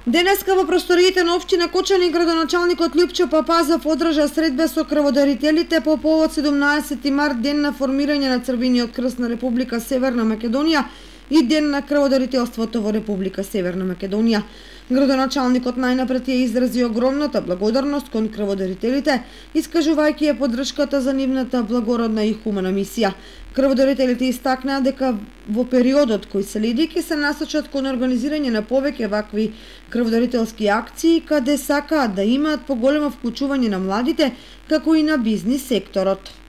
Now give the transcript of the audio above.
Денеска во просториите на општина Кочани градоначалникот Љупчо Папазов одржа средба со крводарителите по повод 17 март, ден на формирање на Црвениот крст на Република Северна Македонија и ден на крводарителството во Република Северна Македонија. Градоначалникот најнапред ја изрази огромната благодарност кон крводарителите, искажувајќи ја поддршката за нивната благородна и хумана мисија. Крводарителите истакнаа дека во периодот кој следи ќе се насочат кон организирање на повеќе вакви крводарителски акции, каде сакаат да имаат поголемо вклучување на младите, како и на бизнис секторот.